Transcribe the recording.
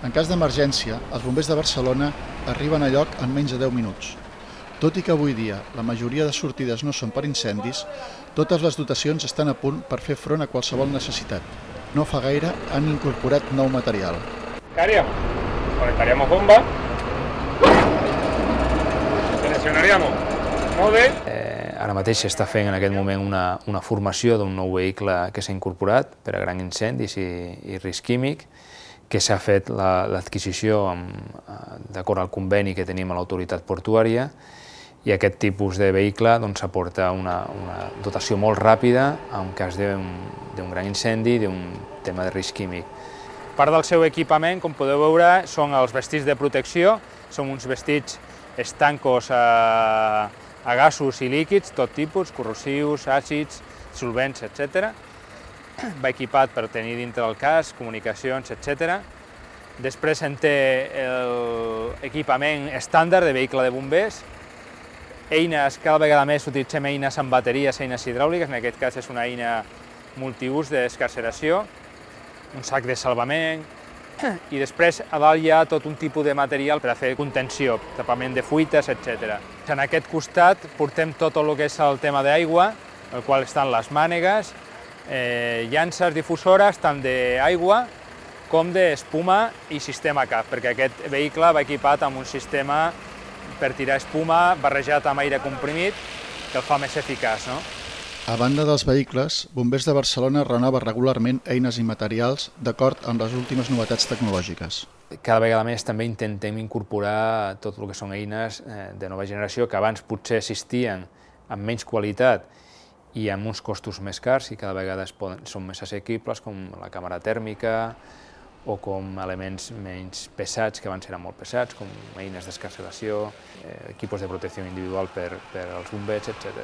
En cas d'emergència, els bombers de Barcelona arriben a lloc en menys de 10 minuts. Tot i que avui dia la majoria de sortides no són per incendis, totes les dotacions estan a punt per fer front a qualsevol necessitat. No fa gaire han incorporat nou material. ¿Qué haríamos? Conectaríamos bomba, seleccionaríamos mode. Ara mateix s'està fent en aquest moment una formació d'un nou vehicle que s'ha incorporat per a grans incendis i risc químic, que s'ha fet l'adquisició d'acord al conveni que tenim a l'autoritat portuària, i aquest tipus de vehicle aporta una dotació molt ràpida en cas d'un gran incendi, d'un tema de risc químic. Part del seu equipament, com podeu veure, són els vestits de protecció, són uns vestits estancos a gasos i líquids, tot tipus, corrosius, àcids, solvents, etc. Va equipat per tenir dintre del casc, comunicacions, etc. Després en té l'equipament estàndard de vehicle de bombers, eines, cada vegada més utilitzem eines amb bateries, eines hidràuliques, en aquest cas és una eina multiús d'escarceració, un sac de salvament, i després a dalt hi ha tot un tipus de material per a fer contenció, tapament de fuites, etc. En aquest costat portem tot el que és el tema d'aigua, el qual estan les mànegues, llances difusores tant d'aigua com d'espuma i sistema CAF, perquè aquest vehicle va equipat amb un sistema per tirar espuma barrejat amb aire comprimit que el fa més eficaç. A banda dels vehicles, Bombers de Barcelona renova regularment eines i materials d'acord amb les últimes novetats tecnològiques. Cada vegada més també intentem incorporar tot el que són eines de nova generació que abans potser existien amb menys qualitat i amb uns costos més cars i cada vegada són més assequibles, com la càmera tèrmica o com elements menys pesats, que abans eren molt pesats, com eines d'escarceració, equipos de protecció individual per als bombers, etc.